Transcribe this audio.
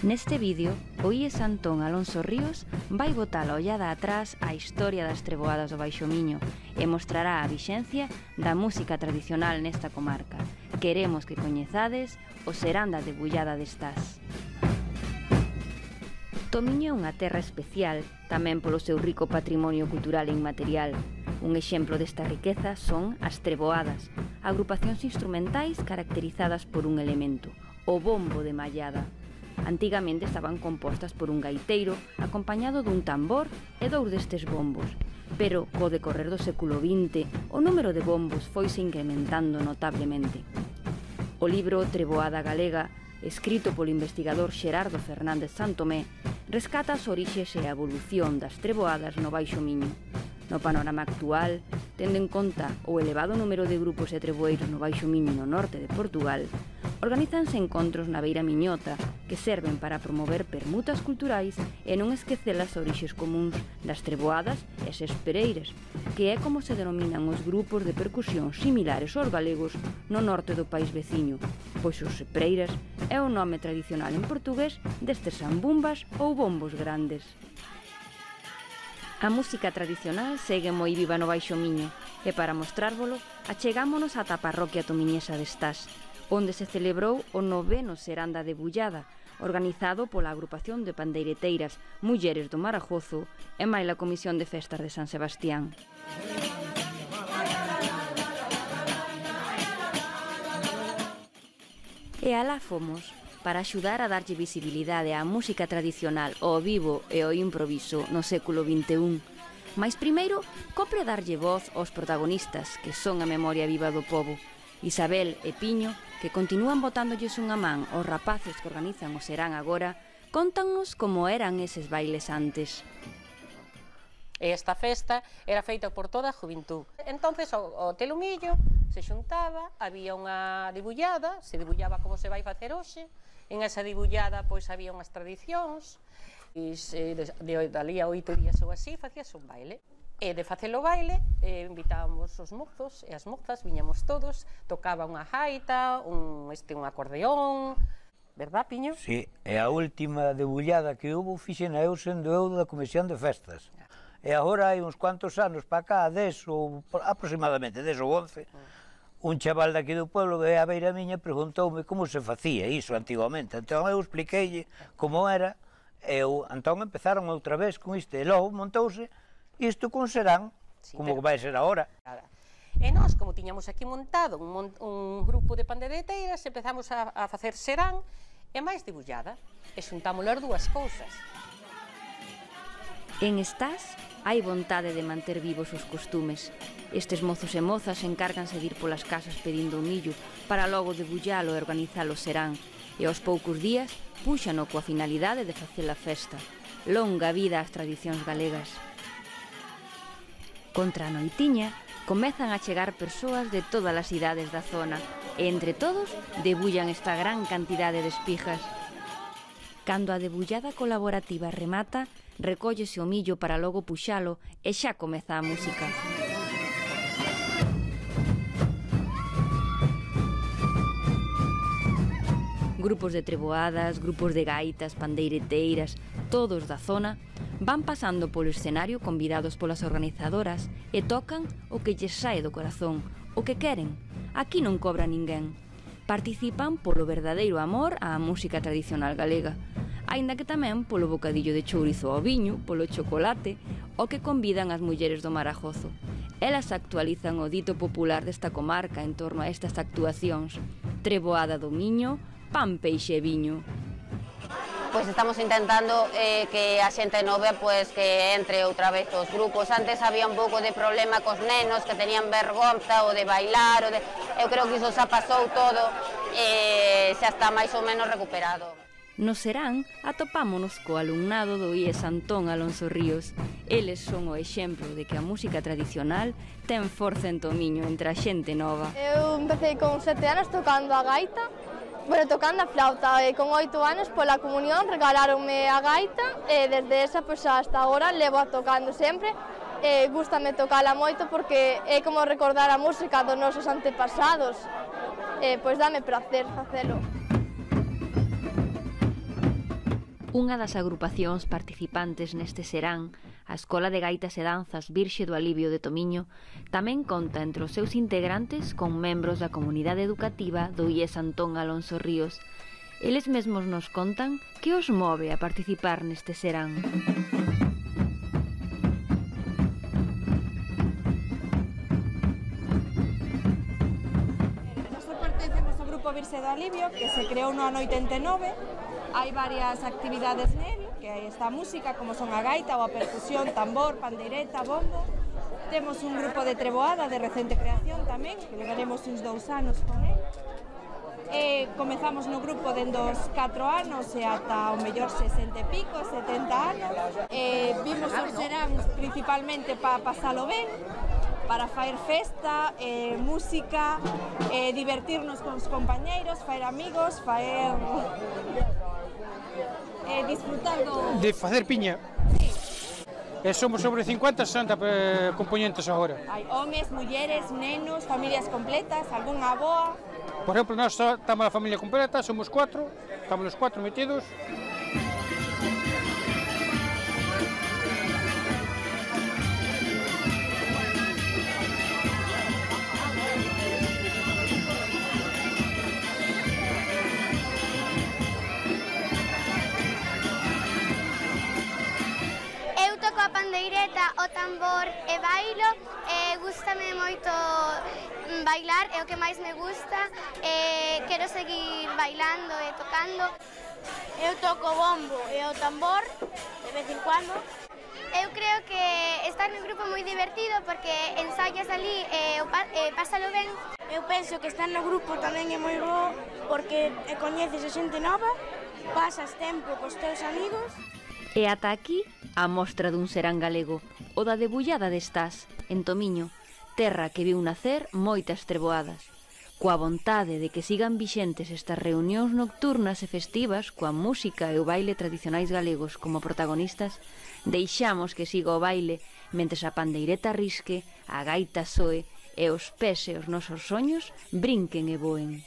Neste vídeo, o IES Antón Alonso Ríos vai botar a ollada atrás á historia das treboadas do Baixo Miño e mostrará a vixencia da música tradicional nesta comarca. Queremos que coñezades o serán da debullada destas. Tomiño é unha terra especial, tamén polo seu rico patrimonio cultural e inmaterial. Un exemplo desta riqueza son as treboadas, agrupacións instrumentais caracterizadas por un elemento, o bombo de mallada. Antigamente estaban compostas por un gaiteiro acompañado dun tambor e dous destes bombos, pero co decorrer do século XX o número de bombos foise incrementando notablemente. O libro Treboada Galega, escrito polo investigador Xerardo Fernández Santomé, rescata as orixes e a evolución das treboadas no Baixo Miño. No panorama actual, tendo en conta o elevado número de grupos de treboeiros no Baixo Miño no norte de Portugal, organízanse encontros na Beira Miñota que serven para promover permutas culturais e non esquecer as orixes comuns das treboadas e as espereiras, que é como se denominan os grupos de percusión similares aos galegos no norte do país veciño, pois os espreiras é o nome tradicional en portugués destes zambumbas ou bombos grandes. A música tradicional segue moi viva no Baixo Miño e para mostrárvolo achegámonos ata a parroquia tomiñesa de Estás, onde se celebrou o 9º Serán da Debullada, organizado pola agrupación de pandeireteiras Mulleres do Marajozo e maila Comisión de Festas de San Sebastián. E alá fomos, para axudar a darlle visibilidade á música tradicional, ao vivo e ao improviso no século XXI. Mais primeiro, copre darlle voz aos protagonistas, que son a memoria viva do pobo. Isabel e Piño, que continúan botándolles unha man aos rapaces que organizan o Serán agora, contannos como eran eses bailes antes. Esta festa era feita por toda a juventud. Entonces o telumillo se xuntaba, había unha debullada, se debullaba como se vai facer hoxe. En esa debullada pois había unhas tradicións, e dali a 8 días ou así facíase un baile. E de facer o baile, invitábamos os mozos e as mozas, viñamos todos, tocaba unha gaita, un acordeón, verdad, Piño? Sí, e a última debullada que hubo fixena eu sendo eu da Comisión de Festas. E agora hai uns cuantos anos para cá, 10 ou aproximadamente 10 ou 11, un chaval daqui do pueblo de a beira miña preguntoume como se facía iso antigamente. Entón eu expliqueille como era, e entón empezaron outra vez con isto, e logo montouse isto con Serán, sí, como vai ser agora. E nós, como tiñamos aquí montado un grupo de pandeireteiras, empezamos a facer Serán e máis debullada, e xuntamos as dúas cousas. En Estás hai vontade de manter vivos os costumes. Estes mozos e mozas encárganse de ir polas casas pedindo o millo para logo debullalo e organizalo Serán, e aos poucos días púxano coa finalidade de facer a festa. Longa vida ás tradicións galegas. Contra a noitiña, comezan a chegar persoas de todas as idades da zona e entre todos debullan esta gran cantidade de espijas. Cando a debullada colaborativa remata, recóllese o millo para logo puxalo e xa comeza a música. Grupos de treboadas, grupos de gaitas, pandeireteiras, todos da zona, van pasando polo escenario convidados polas organizadoras e tocan o que lles sae do corazón, o que queren. Aquí non cobra ninguén. Participan polo verdadeiro amor á música tradicional galega, aínda que tamén polo bocadillo de chourizo ao viño, polo chocolate, o que convidan as mulleres do Marajozo. Elas actualizan o dito popular desta comarca en torno a estas actuacións. Treboada do Miño, pan, peixe e viño. Pois estamos intentando que a xente nova que entre outra vez os grupos. Antes había un pouco de problema cos nenos que tenían vergonza o de bailar, eu creo que iso xa pasou todo e xa está máis ou menos recuperado. No Serán atopámonos co alumnado do IES Antón Alonso Ríos. Eles son o exemplo de que a música tradicional ten forza en Tomiño entre a xente nova. Eu empecé con 7 anos tocando a gaita, tocando a flauta, e con 8 anos pola comunión regalaronme a gaita e desde esa hasta agora levo tocando sempre. Gústame tocala moito porque é como recordar a música dos nosos antepasados, pois dame prazer facelo. Unha das agrupacións participantes neste serán, a Escola de Gaitas e Danzas Virxe do Alivio de Tomiño, tamén conta entre os seus integrantes con membros da comunidade educativa do IES Antón Alonso Ríos. Eles mesmos nos contan que os move a participar neste serán. Nós pertencemos ao Grupo Virxe do Alivio, que se creou no ano 89. Hai varias actividades nel, que está a música, como son a gaita ou a percusión, tambor, pandeireta, bombo. Temos un grupo de treboada de recente creación tamén, que levaremos uns 2 anos con el. Comezamos no grupo dende os 4 anos e ata o mellor 60 e pico, 70 anos. Vimos os seráns principalmente para pasalo ben, para faer festa, música, divertirnos con os compañeiros, faer amigos, faer... disfrutar do... De facer piña. Sí. Somos sobre 50, 60 componentes agora. Hai homes, mulleres, nenos, familias completas, algunha aboa. Por exemplo, nós estamos a familia completa, somos 4, estamos os 4 metidos. A pandeireta, o tambor e bailo, gústame moito bailar, é o que máis me gusta, quero seguir bailando e tocando. Eu toco o bombo e o tambor de vez en cuando. Eu creo que estar no grupo é moi divertido porque ensayas ali e pásalo ben. Eu penso que estar no grupo tamén é moi bo porque coñeces a xente nova, pasas tempo cos teus amigos. E ata aquí a mostra dun serán galego, o da debullada de Estás, en Tomiño, terra que viu nacer moitas treboadas. Coa vontade de que sigan vixentes estas reunións nocturnas e festivas coa música e o baile tradicionais galegos como protagonistas, deixamos que siga o baile mentres a pandeireta risque, a gaita soe e os pés e os nosos soños brinquen e voen.